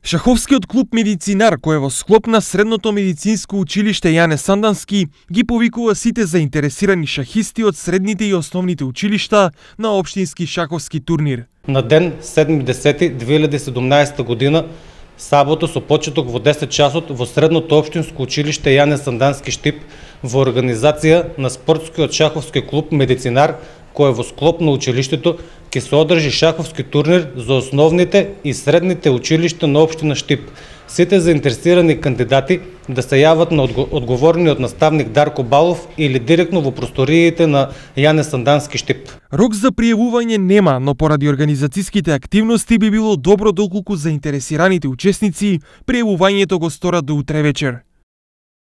Шаховскиот клуб Медицинар, кој е во склоп на Средното медицинско училиште Јане Сандански, ги повикува сите заинтересирани шахисти од средните и основните училишта на општински шаховски турнир. На ден 7.10.2017 година, сабота со почеток во 10 часот во Средното општинско училиште Јане Сандански Штип во организација на спортскиот шаховски клуб Медицинар, кој е во склоп на училиштето, ќе се одржи шаховски турнир за основните и средните училишта на општина Штип. Сите заинтересирани кандидати да се јават на одговорниот наставник Дарко Балов или директно во просториите на Јане Сандански Штип. Рок за пријавување нема, но поради организацијските активности би било добро доколку заинтересираните учесници пријавувањето го сторат до утре вечер.